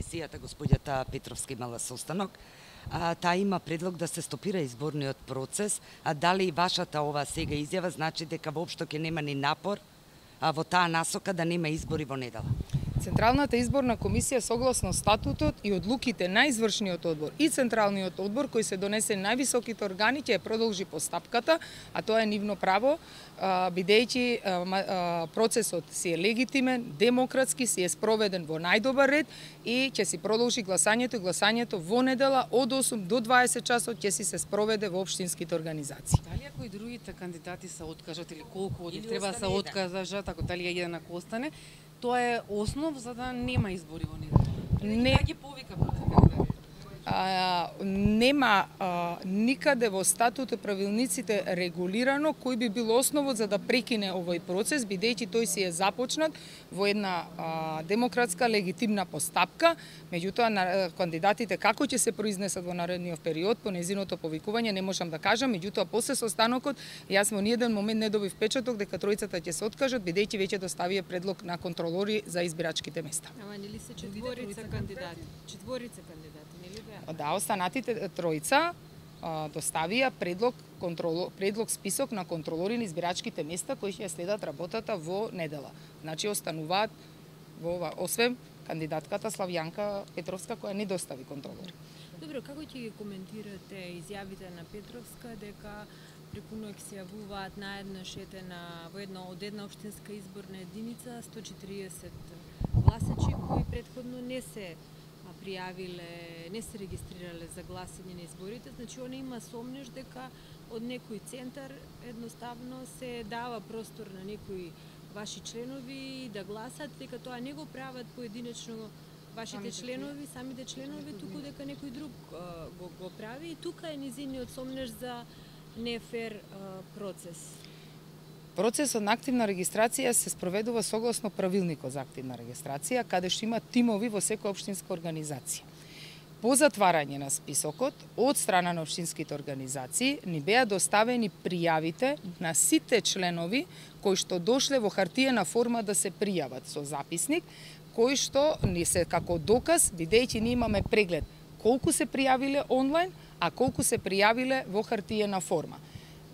комисијата, господјата Петровска имала состанок. Таа има предлог да се стопира изборниот процес, а дали вашата ова сега изјава значи дека воопшто ќе нема ни напор во таа насока да нема избори во недела? Централната изборна комисија согласно статутот и одлуките на извршниот одбор и Централниот одбор кои се донесе највисоките органи ќе продолжи постапката, а тоа е нивно право, бидејќи процесот си е легитимен, демократски, си е спроведен во најдобар ред и ќе си продолжи гласањето во недела од 8 до 20 часот ќе си се спроведе во општинските организации. Дали ако и другите кандидати се откажат или колку од нив треба да се откажат, ако дали еден ако остане, тоа е основ за да нема избори во недела. Не ги повика кандидати. Нема никаде во статутот правилниците регулирано кој би бил основот за да прекине овој процес, бидејќи тој си е започнат во една демократска легитимна постапка. Меѓутоа кандидатите како ќе се произнесат во наредниот период по нејзиното повикување не можам да кажам, меѓутоа после состанокот јас во ниеден момент не добив печаток дека тројцата ќе се откажат бидејќи веќе доставија предлог на контролори за избирачките места. Ама нели се четворица кандидати? Четворица кандидати, нели беа? Да, останатите тројца доставија предлог список на контролори на избирачките места кои ќе следат работата во недела. Значи остануваат во ова, освен кандидатката Славјанка Петровска која не достави контролори. Добро, како ќе ги коментирате изјавите на Петровска дека преку ноќ се јавуваат наеднаш во една општинска изборна единица 140 гласачи кои претходно не се пријавиле, не се регистрирале за гласање на изборите, значи она има сомнеш дека од некој центар едноставно се дава простор на некои ваши членови да гласат, дека тоа не го прават поединечно вашите членови, самите членови, туку дека некој друг го прави и тука е низиниот сомнеш за нефер процес. Процесот на активна регистрација се спроведува согласно правилникот за активна регистрација, каде што има тимови во секоја општинска организација. По затварање на списокот, од страна на општинските организации, ни беа доставени пријавите на сите членови кои што дошле во хартиена форма да се пријават со записник, кои што ни се како доказ, бидејќи ние имаме преглед колку се пријавиле онлайн, а колку се пријавиле во хартиена форма.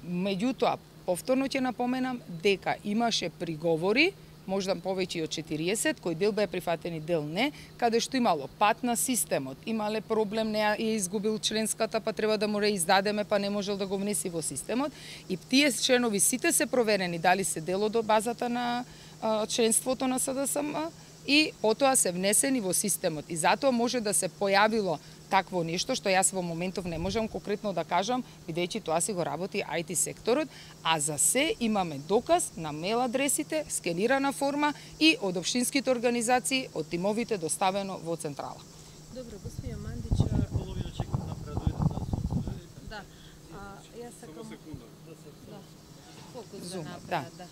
Меѓутоа, повторно ќе напоменам дека имаше приговори, можда повеќе од 40, кој дел беа прифатени, дел не, каде што имало пат на системот, имале проблем, не ја изгубил членската, па треба да му реиздадеме, па не можел да го внеси во системот. И тие членови сите се проверени дали се дел од базата на членството на СДСМ и потоа се внесени во системот. И затоа може да се појавило такво нешто што јас во моментов не можам конкретно да кажам, бидејќи тоа си го работи IT секторот, а за се имаме доказ на мейл адресите, скенирана форма и од општинските организации, од тимовите доставено во централа. Добро, господине Мандич, половина чекам напредуете да, јас сакам секунда. Да. Фокус Зум, да. Да.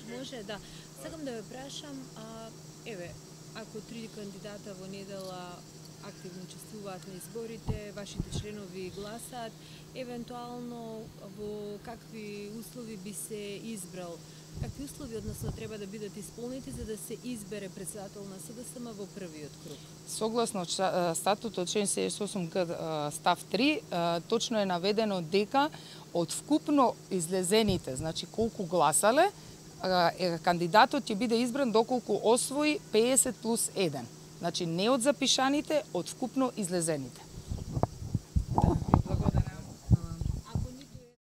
Може, да. Сакам да ве прашам, еве, ако 3 кандидата во недела активно учествуваат на изборите, вашите членови гласаат, евентуално во какви услови би се избрал, какви услови односно треба да бидат исполнети за да се избере председател на СДСМ во првиот круг? Согласно статутот член 78г став 3, точно е наведено дека од вкупно излезените, значи колку гласале, кандидатот ќе биде избран доколку освои 50 плюс 1. Значи не од запишаните, од вкупно излезените.